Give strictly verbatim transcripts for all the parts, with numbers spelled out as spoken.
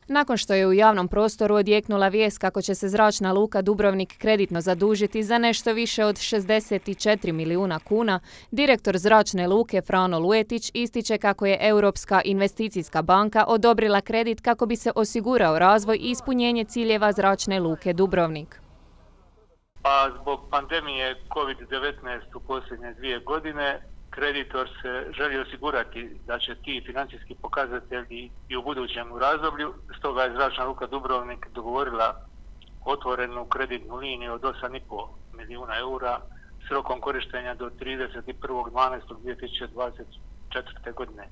Nakon što je u javnom prostoru odjeknula vijest kako će se Zračna luka Dubrovnik kreditno zadužiti za nešto više od šezdeset četiri milijuna kuna, direktor Zračne luke Frano Luetić ističe kako je Europska investicijska banka odobrila kredit kako bi se osigurao razvoj i ispunjenje ciljeva Zračne luke Dubrovnik. A zbog pandemije kovid devetnaest u posljednje dvije godine, kreditor se želi osigurati da će ti financijski pokazatelji i u budućem razdoblju, stoga je Zračna luka Dubrovnik dogovorila otvorenu kreditnu liniju od osam i pol milijuna eura s rokom korištenja do trideset prvog dvanaestog dvije tisuće dvadeset četvrte. godine.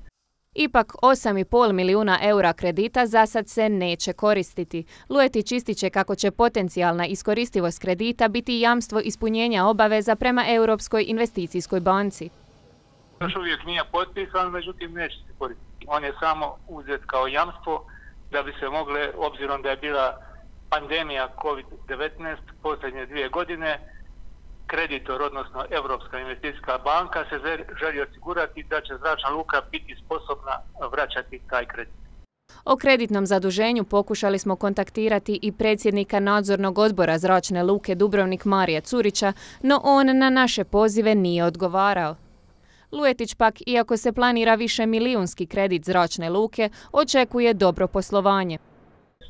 Ipak osam i pol milijuna eura kredita za sad se neće koristiti. Luetić ističe kako će potencijalna iskoristivost kredita biti jamstvo ispunjenja obaveza prema Europskoj investicijskoj banci. Još uvijek nije potpisan, međutim neće se koristiti. On je samo uzet kao jamstvo da bi se mogle, obzirom da je bila pandemija kovid devetnaest posljednje dvije godine, kreditor, odnosno Europska investicijska banka, se želi osigurati da će Zračna luka biti sposobna vraćati taj kredit. O kreditnom zaduženju pokušali smo kontaktirati i predsjednika nadzornog odbora Zračne luke Dubrovnik Marija Curića, no on na naše pozive nije odgovarao. Luetić pak, iako se planira više milijunski kredit Zračne luke, očekuje dobro poslovanje.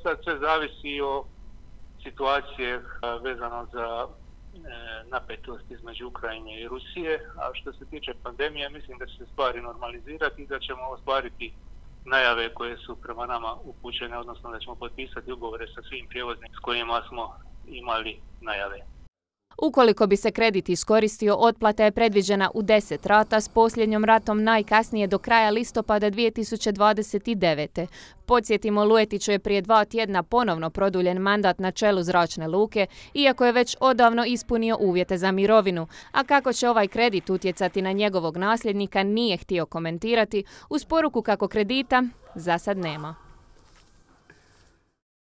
Sad sve zavisi o situacije vezano za napetost između Ukrajine i Rusije, a što se tiče pandemije, mislim da će se stvari normalizirati i da ćemo ostvariti najave koje su prema nama upućene, odnosno da ćemo potpisati ugovore sa svim prijevoznicima s kojima smo imali najave. Ukoliko bi se kredit iskoristio, otplata je predviđena u deset rata s posljednjom ratom najkasnije do kraja listopada dvije tisuće dvadeset devete. Podsjetimo, Luetiću je prije dva tjedna ponovno produljen mandat na čelu Zračne luke, iako je već odavno ispunio uvjete za mirovinu, a kako će ovaj kredit utjecati na njegovog nasljednika nije htio komentirati, uz poruku kako kredita za sad nema.